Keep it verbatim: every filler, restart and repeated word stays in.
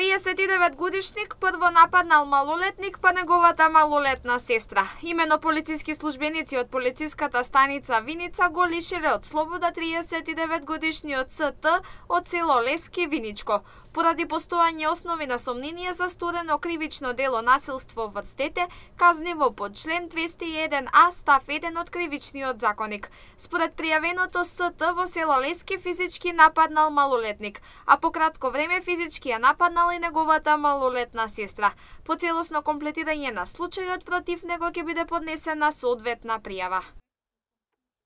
триесет и девет годишник прво нападнал малолетник па неговата малолетна сестра. Имено полициски службеници од полициската станица Виница го лишиле од слобода триесет и девет годишниот С Т од село Лески, Виничко, поради постојање основи на сомнение за сторено кривично дело насилство врз дете, казниво по член двесте и еден А став еден од Кривичниот законник. Според пријавеното С Т во село Лески физички нападнал малолетник, а по кратко време физички ја нападнал и неговата малолетна сестра. По целосно комплетирање на случајот против него ќе биде поднесена соодветна пријава.